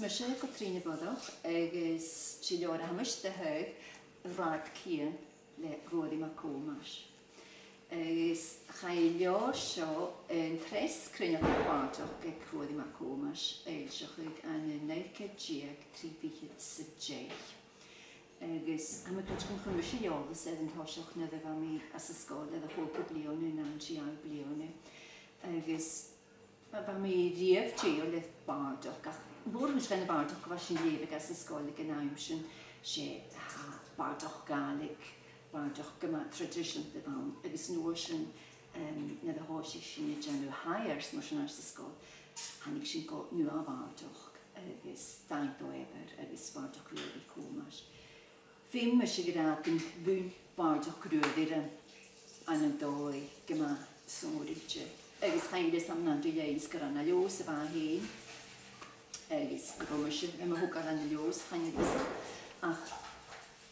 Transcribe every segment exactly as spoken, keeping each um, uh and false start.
Mise Catrìona Bodach agus 's e leabhar a tha mise a' taghadh, Rathad Cian le Ruairidh MacThòmais. Agus chaidh an leabhar seo an treas cruinneachadh bàrdachd aig Ruairidh MacThòmais a fhoillseachadh ann an naoi ceud deug trì fichead 's a deich. Agus tha mi a' creidsinn gun chuir mise eòlas air an toiseach nuair a bha mi anns an sgoil air a h-ochd bliadhna no an dà-dheug bliadhna. Agus bha mi riamh dèidheil air bàrdachd, ach mhòr-chuid dhen a' bhàrdachd a bha sinn a' leughadh anns an sgoil aig an àm sin, 's e, tha, bàrdachd Ghàidhlig, bàrdachd gu math traidiseanta a bh' ann, agus an uair sin, em, nuair a thòisich sinn a' dèanamh Highers mar sin anns an sgoil, thàinig sinn gu nua-bhàrdachd, agus Dòmhnall Dòmhnallach agus bàrdachd Ruairidh MacThòmais. Feumaidh mise a ràdh gun bhuin bàrdachd Ruairidh rium ann an dòigh gu math sònraichte. Agus chan eil fhios agam an ann ri linn 's gur ann à Leòdhas a bha e fhèin, agus gun robh mise nam thogail ann an Leòdhas, chan eil fhios agam. Ach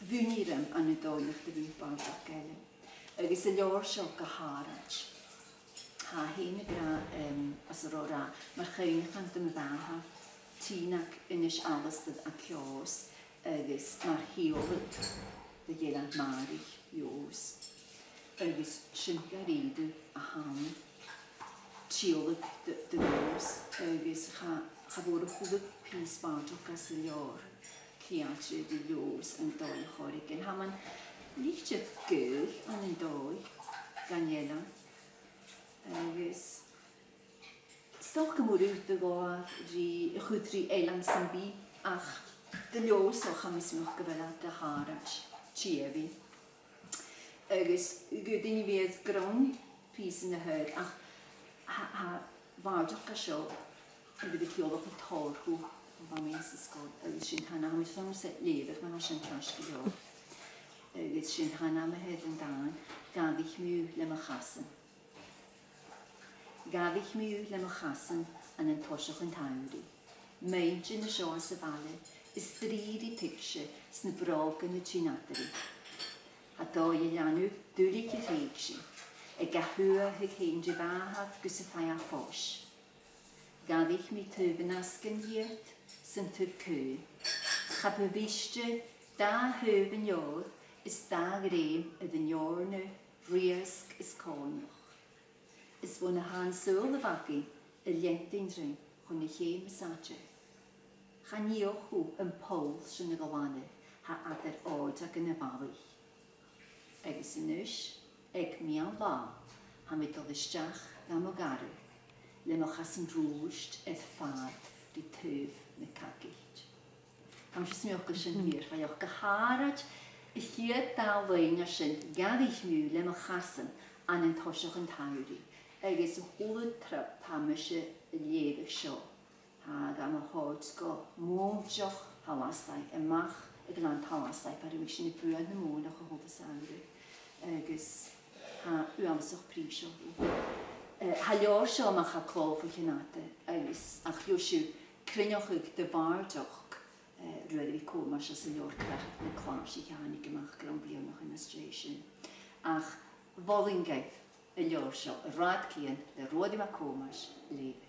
bhuin e rium ann an dòigh nach do bhuin bàrdachd eile. Agus an leabhar seo gu h-àraid. Tha e fhèin ag ràdh, em, às an robh e ag ràdh, mar chuimhneachan do mo mhàthair, Tìonag Aonghais Alasdair à Ceòs, agus mar shìoladh do dh'Eilean Màiri Leòdhais. Agus sin gu h-àraidh a th' ann, tìodhlac do, do Leòdhas, agus cha, cha mhòr a chuala pìos bàrdachd às an leabhar ceangailte ri Leòdhas ann an dòigh air choreigin. Tha mi an litir gaoil ann an dòigh dhan eilean. Agus 's dòcha gu mòr ùidh a ghabhadh ri a chur ri eilean sam bith, ach do Leòdhas, o, tha mi a' smaoineachadh gu bheil e gu h-àraid tìodhlac. Agus gu duine a bhios a' grunn pìosan a thoirt, ach tha, tha bàrdachd seo a bha a' ciallachadh tòrr dhomh nuair a bha mi anns an sgoil, agus sin an t-ainm a th' air, tha mi a' smaoineachadh gun robh sin ceart gu leòr. Agus sin an t-ainm a th' air an dàn, Gabhaidh mi thu le mo chasan. Gabhaidh mi thu le mo chasan ann an toiseach an t-samhraidh. Muinntir an seo às a' bhaile, is strì ri tuigse 's na brògan a' tighinn eadarainn. Tha dòigh a' leanabh duilich a threidhse, aig a shuathadh fhèin ri bhàthadh gus am faigh e fois. Gabhaidh mi taobh an asgainn dhìot 's an taobh caoin. Cha bu mhiste dà thaobh an leabhair is dà ghrèim air an eòrna, riasg is còmhnaidh. Is bhon a tha an saoghal a bh' againn a' leantainn rinn chun a' cheum as fhaide. Chan fhiach thu am poll sin a ghlanadh, tha eadar òirdeagan a' bhalaich. Agus a-nis, aig meadhan-latha, tha mi a' dol a-steach dha mo ghàrradh, le mo chasan rùisgte air fad ri taobh na cagailt. Tha mise a' smaoineachadh gu bheil sin fìor, faighneachd gu h-àraid a' chiad dà loidhne sin, gabhaidh mi thu le mo chasan ann an toiseach an t-samhraidh, agus a h-uile triop a tha mise a' leughadh seo, tha e gam thoirt gu mòinteach Thallasaigh, a-mach à Gleann Tallasaigh, far am biodh sinn a' buain na mòinteach a h-uile samhradh, agus tha e uabhasach prìseil dhomh. Eh, tha an leabhar seo a-mach à clò bho chionn fhada, agus ach gheibh sibh cruinneachadh de bhàrdachd, eh, Ruairidh MhicThòmais às an leabhar Crathaig nan Clàrsach a thàinig a-mach grunn bhliadhnaichean às dèidh sin. Ach mholainn dhuibh an leabhar seo, Rathad Cian le Ruairidh MhicThòmais, a leughadh.